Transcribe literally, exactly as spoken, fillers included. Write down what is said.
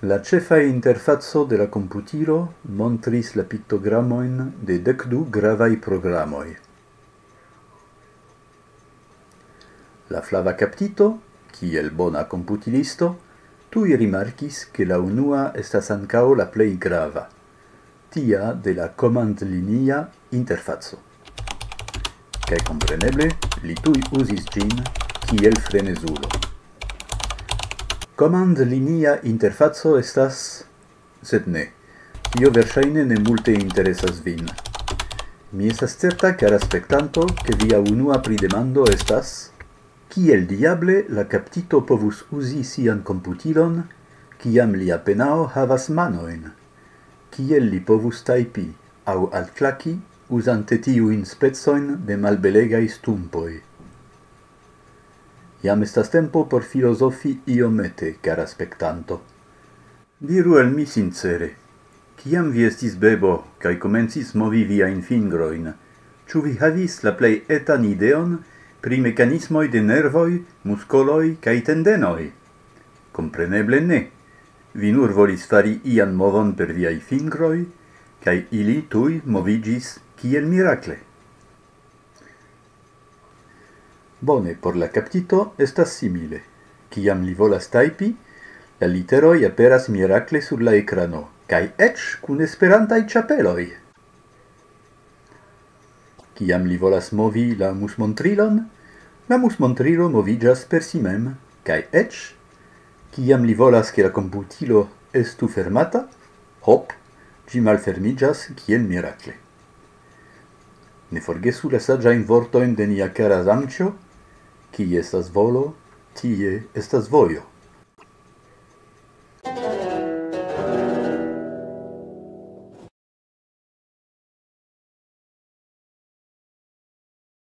La ĉefa interfaco de la komputilo montris la piktogramojn de dek du gravaj programoj. La flava kaptito, kiel bona komputilisto, tuj rimarkis, ke la unua estas ankaŭ la plej grava, tia de la komandlinia interfaco. Kaj kompreneble, li tuj uzis ĝin kiel frenezulo. Komandlinia interfaco estas, sed ne, tio verŝajne ne multe interesas vin. Mi estas certa, kara spektanto, ke via unua pridemando estas: kiel diable la kaptito povus uzi sian komputilon, kiam li apenaŭ havas manojn? Kiel li povus tajpi aŭ altklaki uzante tiujn specojn de malbelegaj stumpoj? Jam estas tempo por filozofi iomete, kara spektanto. Diru al mi sincere, kiam vi estis bebo kaj komencis movi viajn fingrojn, ĉu vi havis la plej etan ideon pri mekanismoj de nervoj, muskoloj kaj tendenoj? Kompreneble ne. Vi nur volis fari ian movon per viaj fingroj, kaj ili tuj moviĝis kiel mirakle. Bone, por la kaptito estas simile. Kiam li volas tajpi, la literoj aperas mirakle sur la ekrano, kaj eĉ kun esperantaj ĉapeloj. Kiam li volas movi la musmontrilon, la musmontrilo moviĝas per si mem, kaj eĉ, kiam li volas, ke la komputilo estu fermata, hop, ĝi malfermiĝas kiel mirakle. Ne forgesu la saĝajn vortojn de nia kara Zamĉjo: kie estas volo, tie estas vojo.